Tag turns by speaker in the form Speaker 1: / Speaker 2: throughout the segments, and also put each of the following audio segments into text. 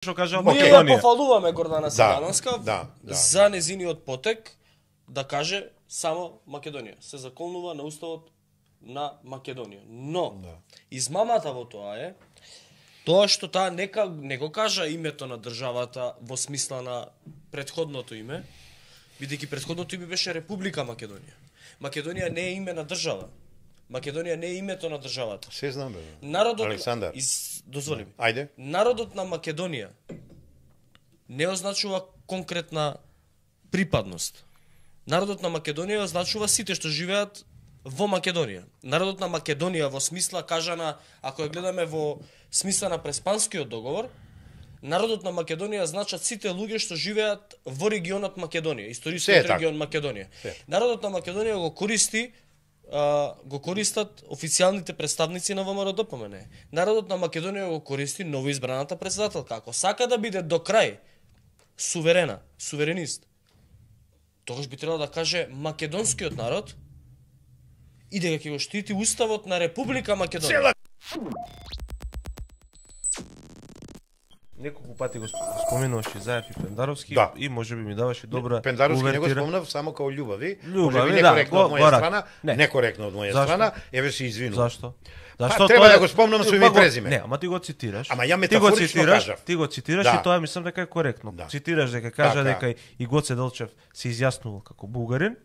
Speaker 1: што кажа
Speaker 2: Ние ја
Speaker 1: Македонија.
Speaker 2: пофалуваме Гордана Силјановска
Speaker 3: да.
Speaker 2: за незиниот потек да каже само Македонија. Се заколнува на уставот на Македонија. Но измамата во тоа е тоа што таа не го кажа името на државата во смисла на претходното име, бидејќи претходното име беше Република Македонија. Македонија не е име на држава. Македонија не е името на државата.
Speaker 3: Се знам, бе.
Speaker 2: Народот
Speaker 3: Александар.
Speaker 2: дозволи ми.
Speaker 3: Ајде.
Speaker 2: Народот на Македонија не означува конкретна припадност. Народот на Македонија означува сите што живеат во Македонија. Народот на Македонија во смисла кажана, ако ја гледаме во смисла на Преспанскиот договор, народот на Македонија значат сите луѓе што живеат во регионот Македонија, историскиот регион Македонија. Народот на Македонија го користат официјалните представници на ВМРО-ДПМН. Народот на Македонија го користи новоизбраната претседателка. Ако сака да биде до крај суверенист, тогаш би требало да каже македонскиот народ и дека ќе го штити уставот на Република Македонија.
Speaker 1: Неколку пати го споменуваше Заев и Пендаровски и можеби ми даваше добра
Speaker 3: Пендаровски не го
Speaker 1: увертира.
Speaker 3: спомнав само као љубави.
Speaker 1: Љубави,
Speaker 3: некоректно
Speaker 1: да,
Speaker 3: од моја
Speaker 1: го
Speaker 3: страна,
Speaker 1: не.
Speaker 3: некоректно од моја страна, еве се извинувам.
Speaker 1: Зашто?
Speaker 3: Треба да го спомнам со име и презиме.
Speaker 1: Не, ама ти го цитираш.
Speaker 3: Ама ја метафорично кажав.
Speaker 1: Ти го цитираш и тоа мислам дека е коректно. Цитираш дека кажа дека и Гоце Делчев се изјаснувал како бугарин.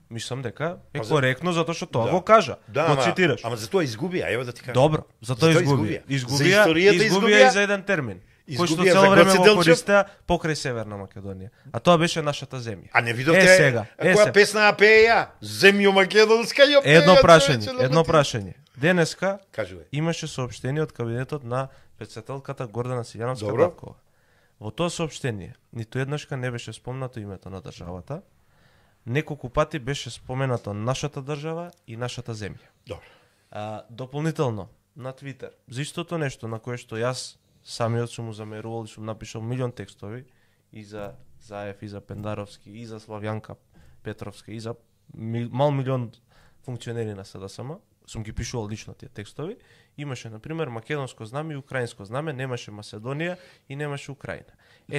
Speaker 1: Мислам дека е коректно затоа што тоа го кажа. Го цитираш.
Speaker 3: Ама за тоа изгубија, ево да ти кажам.
Speaker 1: Добро, за тоа изгубија. Изгубија и за еден термин. Кој што
Speaker 3: Изгубија
Speaker 1: цело
Speaker 3: за
Speaker 1: време
Speaker 3: Гоце
Speaker 1: го
Speaker 3: Делчев.
Speaker 1: користеа покрај Северна Македонија. А тоа беше нашата земја.
Speaker 3: А не видовте
Speaker 1: сега,
Speaker 3: која песна ја пее ја? Земјо македонска ја пее.
Speaker 1: Едно прашање. Денеска
Speaker 3: Кажувај.
Speaker 1: имаше соопштение од кабинетот на претседателката Гордана Силјановска. Во тоа соопштение ниту еднашка не беше спомнато името на државата. Неколку пати беше споменато нашата држава и нашата земја.
Speaker 3: Добро.
Speaker 1: Дополнително на Твитер, за истото нешто на кое што јас самиот сум му замерувал и сум напишал милион текстови и за Заев, и за Пендаровски, и за Славјанка Петровска, и за мал милион функционери на СДСМ, сум ги пишувал лично тие текстови. Имаше, например, македонско знаме и украинско знаме, немаше Маседонија и немаше Украина.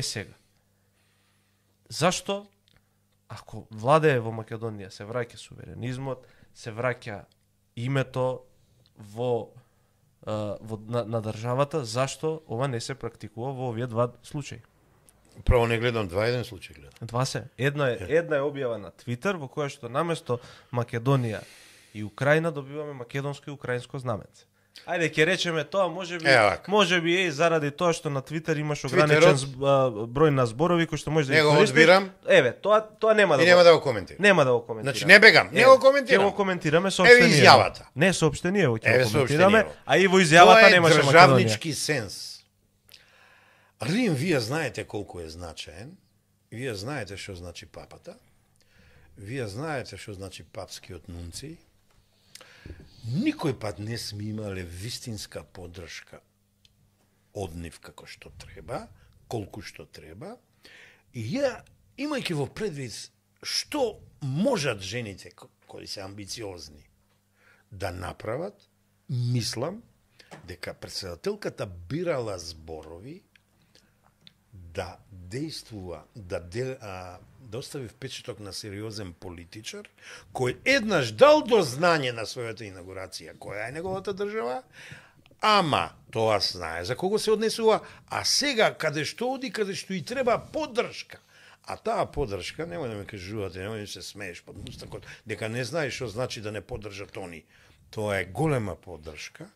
Speaker 1: Сега, зашто, ако владее во Македонија, се враќа суверенизмот, се враќа името на државата, зашто ова не се практикува во овие два случаи?
Speaker 3: Право не гледам еден случај гледам.
Speaker 1: Два се. Една е објава на Твитер во која што наместо Македонија и Украина добиваме македонско и украинско знаменце. Ајде ќе речеме тоа, можеби е заради тоа што на Твитер имаш ограничен број на зборови кои што може да
Speaker 3: ги користиш. Не го одбирам.
Speaker 1: Еве, тоа нема
Speaker 3: да го коментирам.
Speaker 1: Нема да го коментирам.
Speaker 3: Значи не бегам, не го коментирам.
Speaker 1: Ќе го коментираме соопштение.
Speaker 3: Еве изјавата.
Speaker 1: Не соопштение, ќе го коментираме, а и во изјавата немаше Македонија.
Speaker 3: Тоа е државнички сенс. Рим, вие знаете колку е значаен. Вие знаете што значи папата. Вие знаете што значи папскиот нунци. Никој пат не сме имале вистинска поддршка од нив како што треба, колку што треба. И ја, имајќи во предвид што можат жените кои се амбициозни да направат, мислам дека претседателката бирала зборови да действува, да остави впечаток на сериозен политичар, кој еднаш дал до знање на својата инаугурација, која е неговата држава, ама тоа знае за кого се однесува, а сега каде што оди, каде што и треба поддршка. А таа поддршка, немој да ме кажувате, немој да се смееш под мустакот, дека не знаеш што значи да не поддржат они. Тоа е голема поддршка.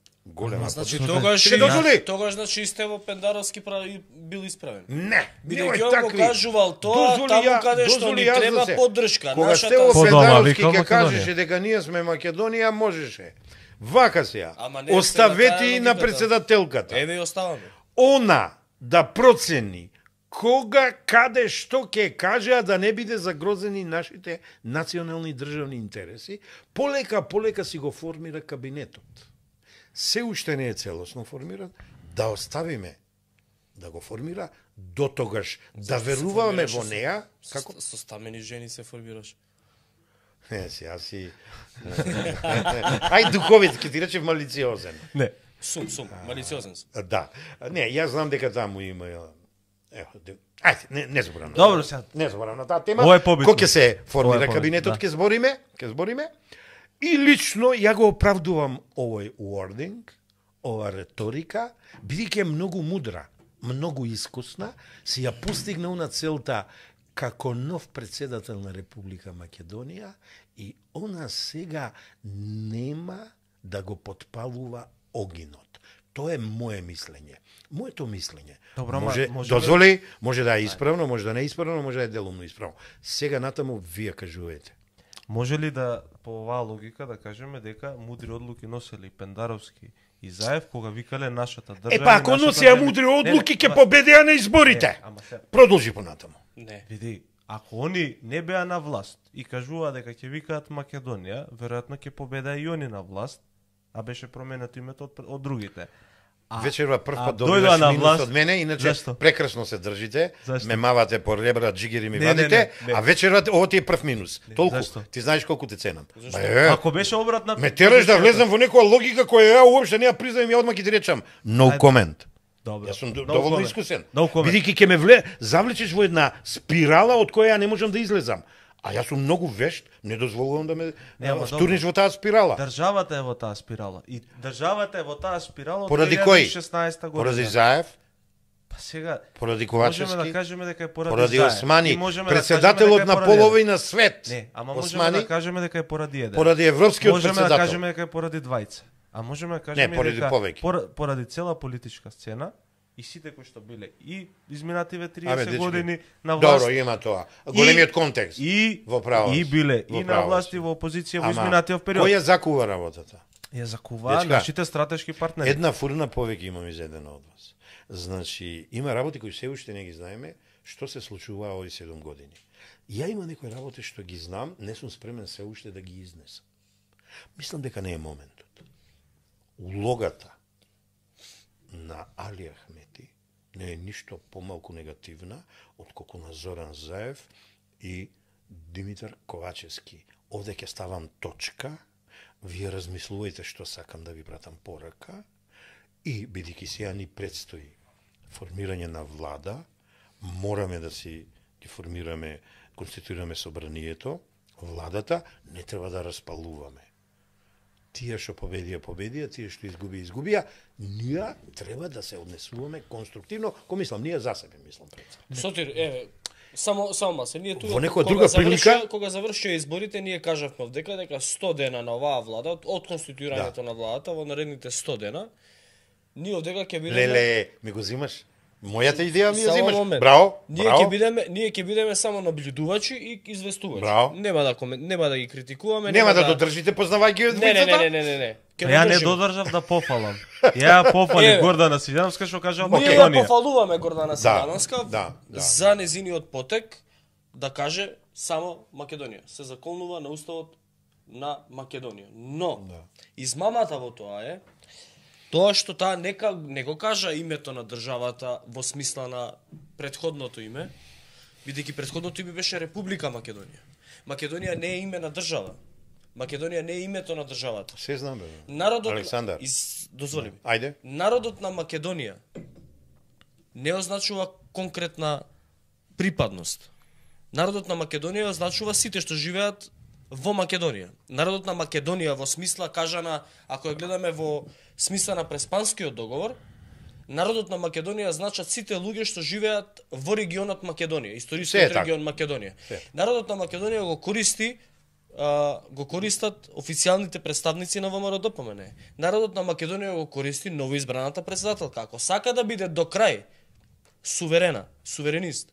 Speaker 2: Значи тогаш значи и Стево Пендаровски бил исправен.
Speaker 3: Не,
Speaker 2: бидејќи он го кажувал тоа таму каде што ни треба поддршка.
Speaker 3: Кога Стево Пендаровски ќе кажеше дека ние сме Македонија, можеше. Вака се ја. Оставете на претседателката.
Speaker 2: Еве и оставаме.
Speaker 3: Она да процени кога, каде, што ќе каже, да не биде загрозени нашите национални државни интереси, полека си го формира кабинетот. Се уште не е целосно формиран, да оставиме да го формира, до тогаш да веруваме во неа.
Speaker 2: Како? Со стамени жени се формираш.
Speaker 3: Не, си... Ај, духовит, ке ти речев малициозен.
Speaker 2: Не. Сум, малициозен сум.
Speaker 3: Да. Не, јас знам дека таму има Ајде, не зборам.
Speaker 1: Добро, сега.
Speaker 3: Не зборам на таа тема.
Speaker 1: Ова е побитно.
Speaker 3: Кога ќе се формира
Speaker 1: Ова е побитно,
Speaker 3: кабинетот,
Speaker 1: да.
Speaker 3: ќе збориме. И лично ја го оправдувам овој wording, ова реторика, бидејќи е многу мудра, многу искусна, си ја постигна на целта како нов председател на Република Македонија и она сега нема да го потпалува огинот. Тоа е моje мислење. Моето мислење.
Speaker 1: Добро,
Speaker 3: може
Speaker 1: може
Speaker 3: може да е исправно, може да не е исправно, може да е делумно исправно. Сега натаму вие кажувате.
Speaker 1: Може ли да по оваа логика да кажеме дека мудри одлуки носели Пендаровски и Заев кога викале нашата држава?
Speaker 3: Па ако носеа мудри одлуки ќе победеа на изборите. Продолжи понатаму.
Speaker 2: Не.
Speaker 1: Види, ако они не беа на власт и кажуваа дека ќе викаат Македонија, веројатно ќе победеа и они на власт, а беше променето името од другите.
Speaker 3: Вечерва прв пат
Speaker 1: дојдоа
Speaker 3: добиваш
Speaker 1: на
Speaker 3: минус
Speaker 1: власт,
Speaker 3: од мене, иначе
Speaker 1: зашто?
Speaker 3: прекрасно се држите,
Speaker 1: Зашто?
Speaker 3: ме мавате по ребра, джигери ми
Speaker 1: Не,
Speaker 3: вадите,
Speaker 1: не.
Speaker 3: а вечерва ово ти е прв минус. Толку.
Speaker 1: зашто?
Speaker 3: Ти знаеш колку те ценам.
Speaker 1: Ако беше обратна
Speaker 3: Ме тераш да влезам во некоја логика која ја уопште не ја признајам, ја одма ќе ти речам. No
Speaker 1: Ајде.
Speaker 3: comment.
Speaker 1: Добро.
Speaker 3: Јас сум
Speaker 1: No
Speaker 3: доволно
Speaker 1: comment.
Speaker 3: искусен.
Speaker 1: No comment.
Speaker 3: Бидејќи ќе ме завлечеш во една спирала од која ја не можам да излезам. А јас сум многу вешт, не дозволувам да ме
Speaker 1: ама
Speaker 3: втурниш
Speaker 1: добро.
Speaker 3: во таа спирала.
Speaker 1: Државата е во таа спирала. И државата е во таа спирала од
Speaker 3: Поради кој?
Speaker 1: 2016 година.
Speaker 3: Поради Заев,
Speaker 1: Па сега
Speaker 3: поради
Speaker 1: можеме
Speaker 3: Ковачевски,
Speaker 1: да кажеме дека е поради
Speaker 3: поради
Speaker 1: Заев.
Speaker 3: Османи,
Speaker 1: И можеме да кажеме
Speaker 3: председателот
Speaker 1: дека е
Speaker 3: на
Speaker 1: поради
Speaker 3: половина свет.
Speaker 1: Не, ама можеме
Speaker 3: Османи,
Speaker 1: да кажеме дека е поради еден.
Speaker 3: поради европскиот
Speaker 1: Можеме да
Speaker 3: председател.
Speaker 1: кажеме дека е поради двајца. А можеме да кажеме
Speaker 3: Не, поради
Speaker 1: дека
Speaker 3: повеќе.
Speaker 1: поради цела политичка сцена и сите кои што биле и изминативе 30
Speaker 3: Абе, дечки,
Speaker 1: години на власт.
Speaker 3: Добро, има тоа. Големиот контекст.
Speaker 1: И
Speaker 3: Во право
Speaker 1: и
Speaker 3: си.
Speaker 1: биле
Speaker 3: Во
Speaker 1: и на
Speaker 3: право
Speaker 1: власт
Speaker 3: си.
Speaker 1: и во опозиција во
Speaker 3: Ама,
Speaker 1: изминатиот период.
Speaker 3: Кој ја закува работата?
Speaker 1: Ја закуваа
Speaker 3: Дечка,
Speaker 1: нашите стратешки партнери.
Speaker 3: Една фурна повеќе имам изедена од вас. Значи, има работи кои се уште не ги знаеме, што се случува овие 7 години. Ја има некои работи што ги знам, не сум спремен се уште да ги изнесам. Мислам дека не е моментот. Улогата на Али Ахмети не е ништо помалку негативна отколку на Зоран Заев и Димитар Ковачевски. Овде ќе ставам точка, вие размислувајте што сакам да ви пратам порака и бидејќи сега ни предстои формирање на влада, мораме да си ги формираме, конституираме собранието, владата, не треба да распалуваме. Тие што победија, тие што изгубија, ние треба да се однесуваме конструктивно, мислам, ние за себе мислам пред се.
Speaker 2: Сотир, само масе, ние тука
Speaker 3: Во некоја друга прилика
Speaker 2: кога завршија изборите, ние кажавме дека 100 дена на оваа влада, од конституирањето на владата во наредните 100 дена, ние овдека ќе бидеме
Speaker 3: Леле, ми го зимаш? Мојата идеја ми ја
Speaker 2: Само
Speaker 3: зимаш.
Speaker 2: момент.
Speaker 3: Браво,
Speaker 2: Ние
Speaker 3: браво.
Speaker 2: ќе бидеме само наблюдувачи и известувачи.
Speaker 3: Браво.
Speaker 2: Нема да ги критикуваме,
Speaker 3: Нема да додржите познавајќи од
Speaker 2: Не.
Speaker 3: двојцата?
Speaker 2: Ќе
Speaker 1: Ја не
Speaker 2: додржиме.
Speaker 1: додржав да пофалам. Ја пофали
Speaker 2: Еве.
Speaker 1: Гордана Сидановска што кажа
Speaker 2: Ние ја
Speaker 1: Македонија.
Speaker 2: пофалуваме Гордана Сидановска
Speaker 3: да.
Speaker 2: за незиниот потек да каже само Македонија. Се заколнува на уставот на Македонија. Но измамата во тоа е тоа што таа не го кажа името на државата во смисла на претходното име, бидејќи претходното име беше Република Македонија. Македонија не е име на држава. Македонија не е името на државата.
Speaker 3: Се знам, бе.
Speaker 2: Народот
Speaker 3: Александар.
Speaker 2: дозволи ми.
Speaker 3: Ајде.
Speaker 2: Народот на Македонија не означува конкретна припадност. Народот на Македонија означува сите што живеат во Македонија. Народот на Македонија во смисла кажана, ако ја гледаме во смисла на Преспанскиот договор, народот на Македонија значат сите луѓе што живеат во регионот Македонија, историскиот
Speaker 3: така.
Speaker 2: регион Македонија. Народот на Македонија го користат официјалните представници на ВМРО-ДПМН. Народот на Македонија го користи новоизбраната председателка. Ако сака да биде до крај суверенист,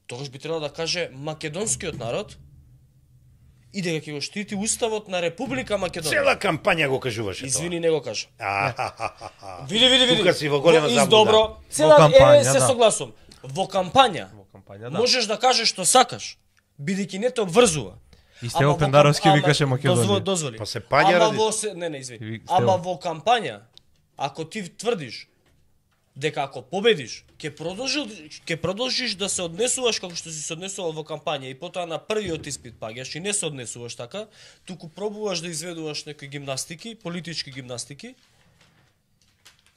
Speaker 2: тогаш би требало да каже македонскиот народ и дека ќе го штити уставот на Република Македонија.
Speaker 3: Цела кампања го кажуваше
Speaker 2: Извини, не го кажа.
Speaker 3: тоа.
Speaker 2: Види.
Speaker 3: Тука си во голема заблуда.
Speaker 2: Добро. Цела
Speaker 1: кампања,
Speaker 2: се
Speaker 1: да.
Speaker 2: согласувам. Во кампања
Speaker 1: кампања, да.
Speaker 2: можеш да кажеш што сакаш, бидејќи не те обврзува.
Speaker 1: И Стево Пендаровски викаше Македонија.
Speaker 2: Дозволи.
Speaker 3: Па се паѓа ради-
Speaker 2: извини.
Speaker 1: Стево.
Speaker 2: Ама во кампања, ако ти тврдиш дека ако победиш, ќе продолжиш да се однесуваш како што си се однесувал во кампања и потоа на првиот испит паѓаш и не се однесуваш така, туку пробуваш да изведуваш некои гимнастики, политички гимнастики.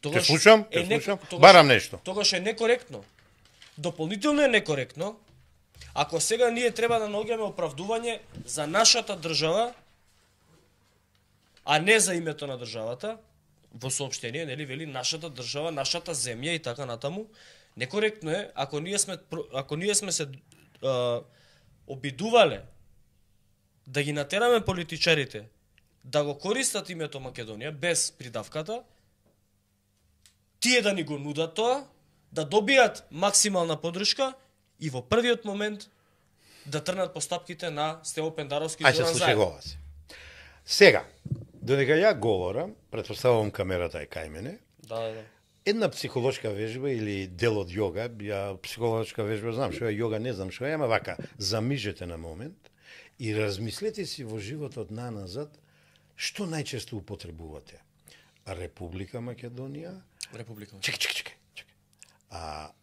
Speaker 3: Те слушам,
Speaker 2: е
Speaker 3: барам нешто.
Speaker 2: Тогаш е некоректно. Дополнително е некоректно ако сега ние треба да наоѓаме оправдување за нашата држава, а не за името на државата, во соопштение, нели, вели нашата држава, нашата земја и така натаму. Некоректно е ако ние сме се обидувале да ги натераме политичарите да го користат името Македонија без придавката, тие да ни го нудат тоа, да добијат максимална подршка и во првиот момент да трнат постапките на Стево Пендаровски и Зоран Заев.
Speaker 3: Слушай се. Сега, додека ја говорам, претпоставувам камерата е кај мене.
Speaker 2: Да.
Speaker 3: Една психолошка вежба или дел од јога, ја психолошка вежба знам што е јога, не знам што е, ама вака, замижете на момент и размислете си во животот наназад што најчесто употребувате. Република Македонија.
Speaker 2: Република.
Speaker 3: Чекај.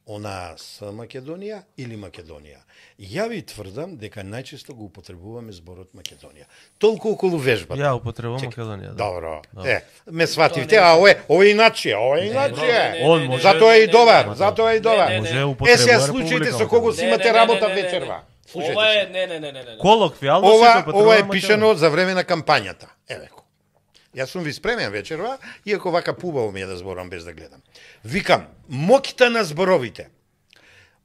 Speaker 3: Она с Македонија или Македонија. Ја ви тврдам дека најчесто го употребуваме зборот Македонија. Толку околу вежбата.
Speaker 1: Ја употребувам Македонија. Да.
Speaker 3: Добро. Ме свативте, а ова е иначе,
Speaker 1: Он може.
Speaker 3: Затоа е и добар, затоа е и добар.
Speaker 1: Може употребува
Speaker 3: Сега случаите со кого си имате работа вечерва.
Speaker 2: Ова е не.
Speaker 1: Колоквијално
Speaker 3: Ова е пишано за време на кампањата. Евеко. Јас сум ви спремен вечерва, иако вака пубаво ми е да зборам без да гледам. Викам, моќта на зборовите.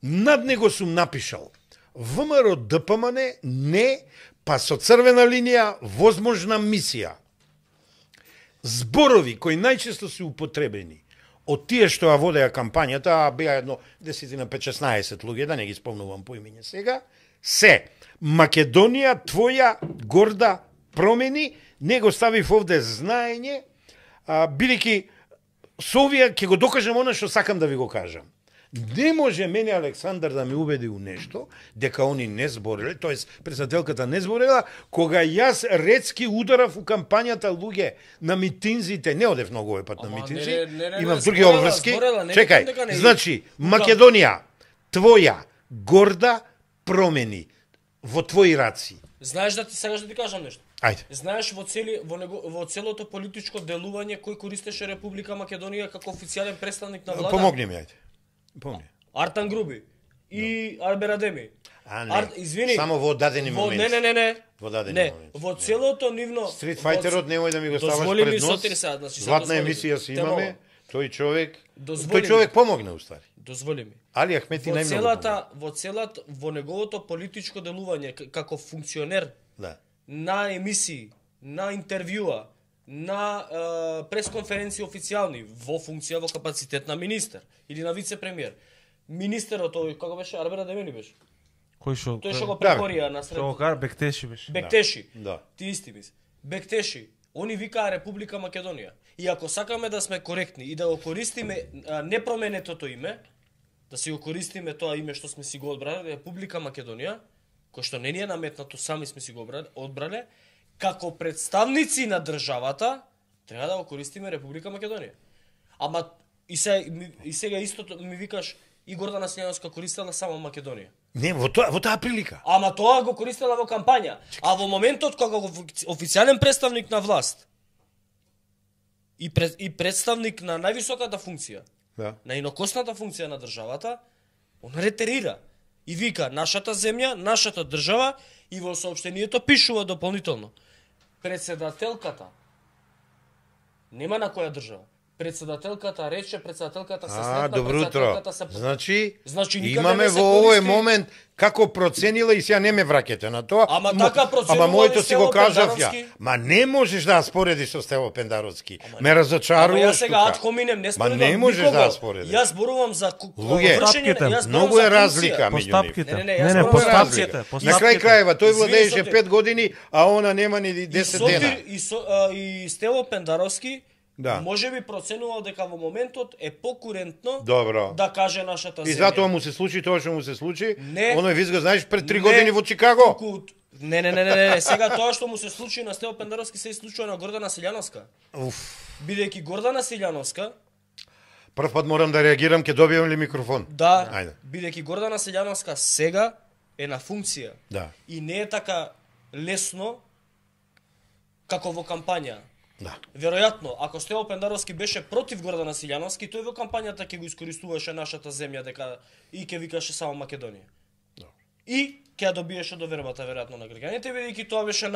Speaker 3: Над него сум напишал ВМРО ДПМН не, па со црвена линија возможна мисија. Зборови кои најчесто се употребени од тие што ја водеа кампањата, беа едно 10 на 15-16 луѓе, да не ги спомнувам по имење сега, се Македонија твоја горда промени. Него ставив овде знаење, бидејќи со овие ќе го докажам она што сакам да ви го кажам. Не може мене Александар да ме убеди у нешто, дека они не збореле, тоест председателката не зборела, кога јас ретски ударав у кампањата луѓе на митинзите, не одев многу овој пат на митинзи, имам други обврски. Чекај, значи, Македонија, твоја горда промени во твои раци.
Speaker 2: Знаеш да ти сега да ти кажам нешто?
Speaker 3: Ајде.
Speaker 2: Знаеш во целото политичко делување кој користеше Република Македонија како официјален представник на влада?
Speaker 3: Помогни ми, ајде. Помогни.
Speaker 2: Артан Груби и Арбер Адеми.
Speaker 3: Извини. Само во дадени моменти.
Speaker 2: Не.
Speaker 3: Во дадени моменти.
Speaker 2: Во целото нивно
Speaker 3: Стрит фајтерот немој да ми го ставаш пред нос. Златна емисија си имаме. Тој човек помогна уствари.
Speaker 2: Дозволи ми.
Speaker 3: Али Ахмети најмногу
Speaker 2: во неговото политичко делување како функционер.
Speaker 3: Да.
Speaker 2: На емисии, на интервјуа, на пресконференции официјални во функција во капацитет на министер или на вице-премиер. Министерот тој како беше Арбер Адеми беше.
Speaker 1: Кој што?
Speaker 2: Тој што го прекорија на сред.
Speaker 1: Што Бектеши беше.
Speaker 2: Бектеши.
Speaker 3: Да.
Speaker 2: Ти исти мис. Бектеши. Они викаа Република Македонија. И ако сакаме да сме коректни и да го користиме непроменетото име, да си го користиме тоа име што сме си го одбрале, Република Македонија, кој што не ни е наметнато, сами сме си го одбрале, како представници на државата, треба да го користиме Република Македонија. Ама и сега истото ми викаш и Гордана Силјановска користела само Македонија.
Speaker 3: Не, во таа прилика.
Speaker 2: Ама тоа го користела во кампања. А во моментот кога го официјален представник на власт и представник на највисоката функција, на инокосната функција на државата, он ретерира и вика нашата земја, нашата држава, и во соопштението пишува дополнително. Председателката нема на која држава. Председателката рече, председателката се сретна, председателката се...
Speaker 3: Значи имаме во овој момент како проценила и сега не ме враќате на тоа.
Speaker 2: Ама така проценува.
Speaker 3: Ама моето си го кажав ја. Ма не можеш да споредиш со Стево Пендаровски. Ме разочаруваш.
Speaker 2: Ама јас сега ад хоминем не споредам.
Speaker 3: Ма не можеш да споредиш.
Speaker 2: Јас зборувам за
Speaker 3: вршење, многу е разлика меѓу нив.
Speaker 1: Не, постапките.
Speaker 3: На крај крајева тој владееше 5 години, а она нема ни 10 дена.
Speaker 2: И Стево Пендаровски
Speaker 3: да.
Speaker 2: Може би проценувал дека во моментот е покурентно
Speaker 3: добро
Speaker 2: да каже нашата земја.
Speaker 3: И затоа му се случи тоа што му се случи.
Speaker 2: Не,
Speaker 3: оној визга, знаеш, пред 3 години во Чикаго.
Speaker 2: Не. Сега тоа што му се случи на Стево Пендаровски се случува на Гордана Силјановска. Бидејќи Гордана Силјановска...
Speaker 3: Прв пат морам да реагирам, ќе добијам ли микрофон?
Speaker 2: Да, бидејќи Гордана Силјановска сега е на функција.
Speaker 3: Да.
Speaker 2: И не е така лесно како во кампања.
Speaker 3: Да.
Speaker 2: Веројатно, ако Стево Пендаровски беше против Гордан Василјановски, тој во кампањата ќе го искористуваше нашата земја дека и ќе викаше само Македонија. И ќе ја добиеше довербата веројатно на граѓаните, бидејќи тоа беше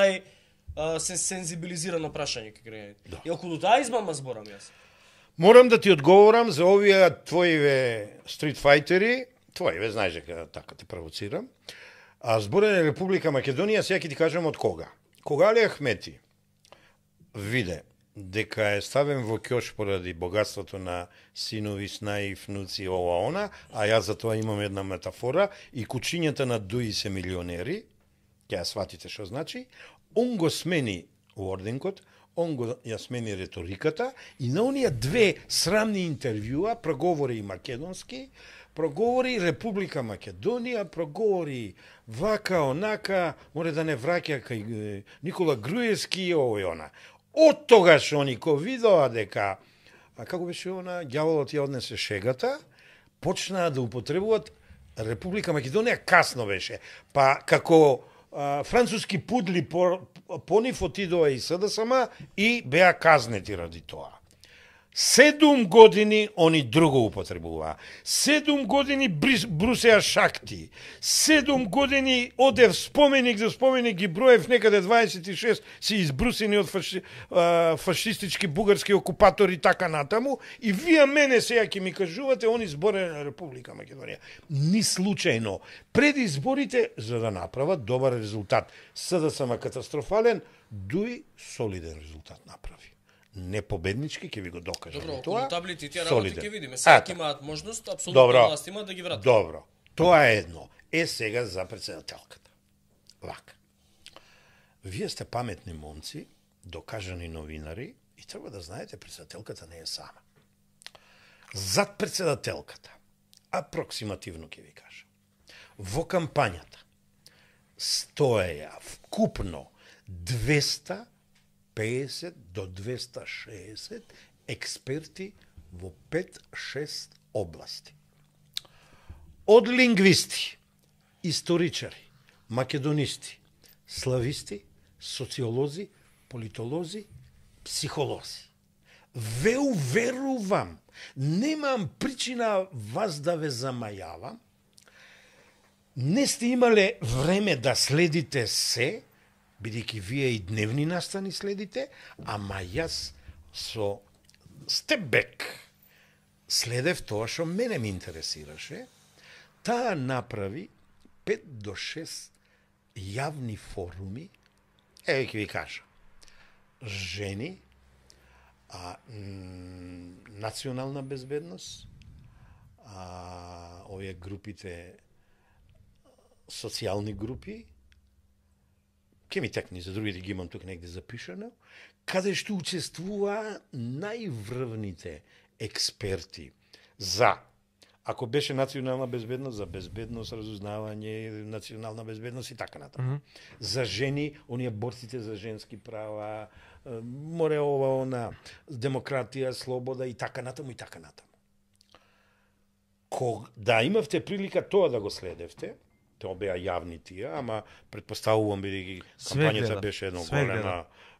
Speaker 2: сензибилизирано прашање кај граѓаните. И околу таа измама зборам јас.
Speaker 3: Морам да ти одговорам за овие твоиве стритфајтери, твоиве, знаеш дека така те провоцирам. А зборење Република Македонија, сега ќе ти кажам од кога. Кога Али Ахмети виде дека е ставен во ќош поради богатството на синови, снаи, внуци, ова, она, а јас за тоа имам една метафора, и кучињата на Дуи се милионери, ќе ја сватите што значи, он го смени уординкот, он го ја смени реториката и на оние две срамни интервјуа проговори и македонски, проговори Република Македонија, проговори вака, онака, море да не враќа кај Никола Груевски и ово и она. Од тогаш они ко видоа дека, како беше она, ѓаволот ја однесе шегата, почнаа да употребуваат Република Македонија, касно беше. Па како француски пудли по нив отидоа и СДСМ и беа казнети ради тоа. 7 години они друго употребуваа. 7 години брусеа шакти. 7 години одев споменик за споменик ги броев, некаде 26 си избрусени од фашистички бугарски окупатори така натаму, и вие мене сега ќе ми кажувате они зборење на Република Македонија. Ни случајно. Пред изборите, за да направат добар резултат, СДСМ катастрофален, Дуи солиден резултат направи. Не победнички, ќе ви го докажам.
Speaker 2: Добро,
Speaker 3: тоа.
Speaker 2: таблите и тие работи ќе видиме. Сега ќе имаат можност, апсолутно власт имаат да ги вратат.
Speaker 3: Добро. Тоа е едно. Сега за председателката. Вака. Вие сте паметни момци, докажани новинари, и треба да знаете, председателката не е сама. Зад председателката, апроксимативно ќе ви кажам, во кампањата стоеја вкупно 250 до 260 експерти во 5-6 области. Од лингвисти, историчари, македонисти, слависти, социолози, политолози, психолози. Ве уверувам, немам причина вас да ве замајавам, не сте имале време да следите се, бидејќи вие и дневни настани следите, ама јас со степбек следев тоа што мене ми интересираше. Таа направи 5 до 6 јавни форуми, еве ќе ви кажа, жени, национална безбедност, овие групите, социјални групи, ке ми текни, за другите ги имам тук негде запишано, каде што учествуваа најврвните експерти за, ако беше национална безбедност, за безбедност, разузнавање, национална безбедност и така натаму. За жени, оние борците за женски права, море ова, она, демократија, слобода и така натаму и така натаму. Да имавте прилика тоа да го следевте, тоа беа јавни тие, ама предпоставувам бидејќи кампањата беше едно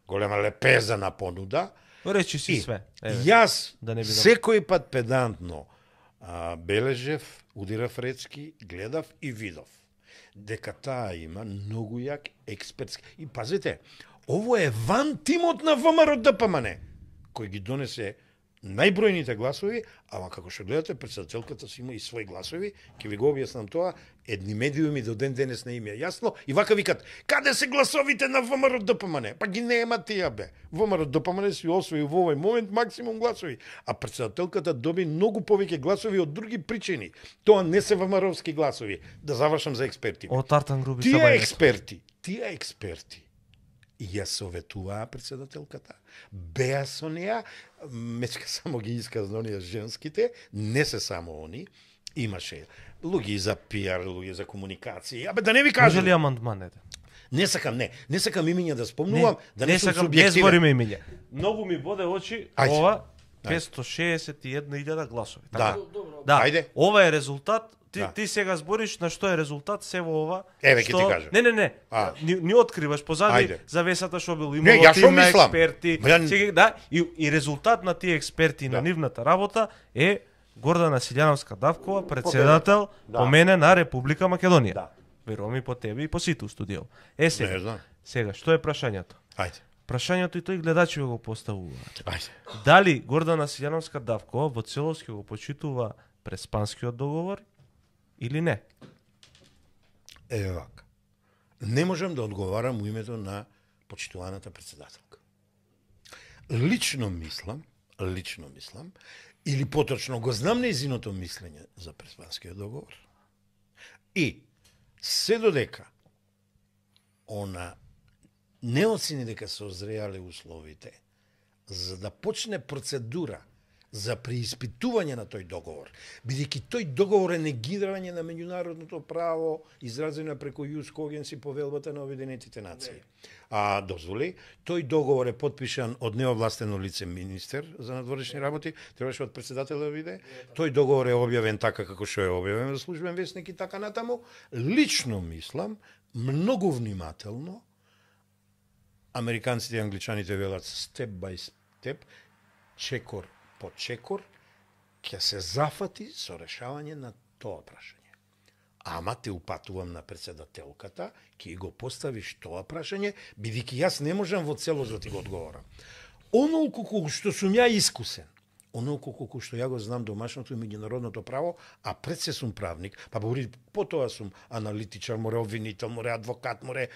Speaker 3: голема лепеза на понуда.
Speaker 1: Речи си све.
Speaker 3: Јас секој пат педантно бележев, удирав речки, гледав и видов дека таа има многу јак експертски. И пазите, ово е ван тимот на ВМРО-ДПМН, кој ги донесе најбројните гласови, ама како што гледате, председателката си има и своји гласови, ќе ви го објаснам тоа, едни медиуми до ден денес не им е јасно, и вака викат, каде се гласовите на ВМРО-ДПМН? Па ги нема тие, бе. ВМРО-ДПМН си освои во овој момент максимум гласови, а председателката доби многу повеќе гласови од други причини. Тоа не се ВМРО-вски гласови. Да завршам за експерти.
Speaker 1: Од Тартан Груби
Speaker 3: тие експерти, и ја советуваа председателката, беа со неа, мечка само ги исказна оние женските, не се само они, имаше луѓе за пиар, луѓе за комуникација, абе да не ви кажам.
Speaker 1: Може ли амандманете?
Speaker 3: Не сакам имиња да спомнувам, да не сум
Speaker 1: субјективен. Не збориме имиња. Многу ми боде очи ова 561.000 гласови.
Speaker 3: Да.
Speaker 1: Да.
Speaker 3: Ајде.
Speaker 1: Ова е резултат Ти сега збориш на што е резултат се во ова.
Speaker 3: Еве ќе ти кажам.
Speaker 1: Не. Ни откриваш позади
Speaker 3: Ајде.
Speaker 1: завесата што бил
Speaker 3: Не,
Speaker 1: имало
Speaker 3: јас што
Speaker 1: тим на
Speaker 3: мислам?
Speaker 1: експерти.
Speaker 3: Ја-
Speaker 1: Да, и резултат на тие експерти на нивната работа е Гордана Силјановска Давкова, председател помене на Република Македонија.
Speaker 3: Да.
Speaker 1: Верувам и по тебе и по сите у студио.
Speaker 3: Не
Speaker 1: Сега,
Speaker 3: знам.
Speaker 1: сега, што е прашањето?
Speaker 3: Ајде.
Speaker 1: Прашањето и тој гледачи го поставуваат.
Speaker 3: Ајде.
Speaker 1: Дали Гордана Силјановска Давкова во целост ќе го почитува Преспанскиот договор или не?
Speaker 3: Еве вака. Не можам да одговарам у името на почитуваната председателка. Лично мислам, или поточно го знам нејзиното мислење за Преспанскиот договор. И се додека она не оцени дека се озреале условите за да почне процедура за преиспитување на тој договор, бидејќи тој договор е негирање на меѓународното право изразено преку Јус Когенс и повелбата на Обединетите нации. А дозволи, тој договор е потпишан од неовластено лице министер за надворешни работи, требаше од председател да биде. Тој договор е објавен така како што е објавен во службен весник и така натаму. Лично мислам, многу внимателно, американците и англичаните велат степ бај степ, чекор по чекор, ќе се зафати со решавање на тоа прашање. Ама те упатувам на председателката, ќе го поставиш тоа прашање, бидејќи јас не можам во целост да ти го одговорам. Онолку колку што сум ја искусен, онолку колку што ја го знам домашното и меѓународното право, а пред се сум правник, па потоа сум аналитичар, море обвинител, море адвокат, море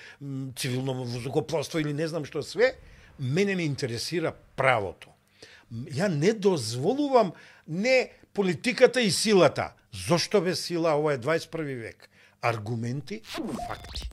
Speaker 3: цивилно воздухопловство или не знам што све, мене ме интересира правото. Ја не дозволувам не политиката и силата. Зошто без сила? Ова е 21 век. Аргументи, факти.